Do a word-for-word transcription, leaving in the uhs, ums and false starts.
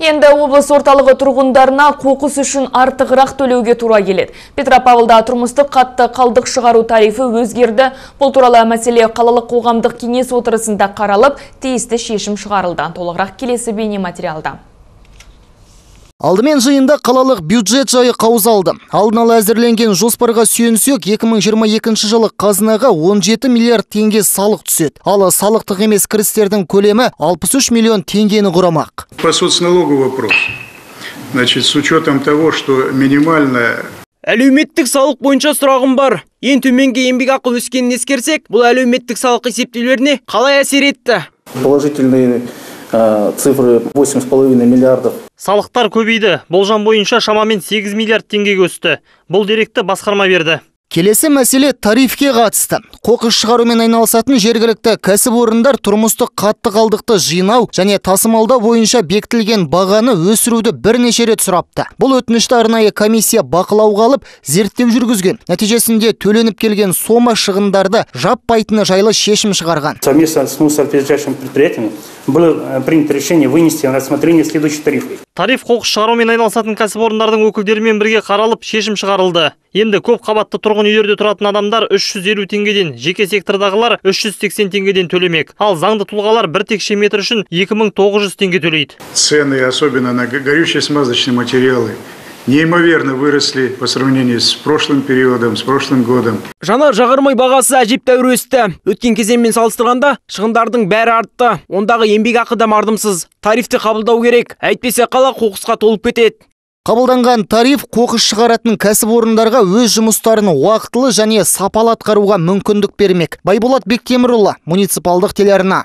Енді облыс орталығы тұрғындарына қоқыс үшін артығырақ төлеуге тура келеді. Петропавлда тұрмыстық қатты қалдық шығару тарифі өзгерді. Бұл туралы мәселе қалалық қоғамдық кеңес отырысында қаралып, тиісті шешім шығарылды. Толығырақ келесі бейне материалда. Алдымен жиында қалалық бюджет жайы қаузалды. Алдын ала әзірленген жоспарға сүйенсек, екі мың жиырма екінші жылы қазынаға он жеті миллиард теңге салық түседі. Ал салықтық емес кірістердің көлемі алпыс үш миллион теңгені құрамақ. По соцналогу вопрос. Значит, с учетом того, что минимальная... Әлеуметтік салық бойынша сұрағым бар. Ең төменгі еңбекақы өскенін ескерсек, бұл әлеуметтік салық есептеулеріне қалай әсер етті? Положительные цифры восемь с половиной миллиардов. Салықтар көбейді. Болжам бойынша шамамен сегіз миллиард теңгеге өсті. Бұл деректі басқарма берді. Келесі мәселе тарифке қатысты. Қоқыс шығарумен айналысатын жергілікті кәсіпорындар тұрмыстық қатты қалдықты жинау және тасымалдау бойынша бекітілген бағаны өсіруді бірнеше рет сұрапты. Бұл өтінішті арнайы комиссия бақылауға алып, зерттеу жүргізген. Нәтижесінде төленіп келген сома шығындарды жаппайтыны жайлы шешім шығарған. Совместно с соответствующим предприятием было принято решение вынести на рассмотрение следующих тарифов. Тариф қоқыс шығарумен айналысатын кәсіпорындардың өкілдерімен бірге қаралып, шешім шығарылды. Енді көп қабатты тұрғын үйлерде тұратын адамдар үш жүз елу теңгеден, жеке сектордағылар үш жүз сексен теңгеден төлемек. Ал заңды тұлғалар бір текше метр үшін екі мың тоғыз жүз теңге төлейді. Цены, особенно на горючие смазочные материалы, неимоверно выросли по сравнению с прошлым периодом, с прошлым годом. Жанар жағармай бағасы әжептәуір өсті. Өткен кезеңмен салыстырғанда шығындардың бәрі артты. Ондағы еңбекақы да мардымсыз. Тарифті қабылдау керек, әйтпесе қала қоқысқа толып кетеді. Қабылданған тариф қоқыс шығаратын кәсіпорындарға өз жұмыстарын уақытылы және сапалы атқаруға мүмкіндік бермек. Байболат Бектемірұлы, муниципалдық телеарна.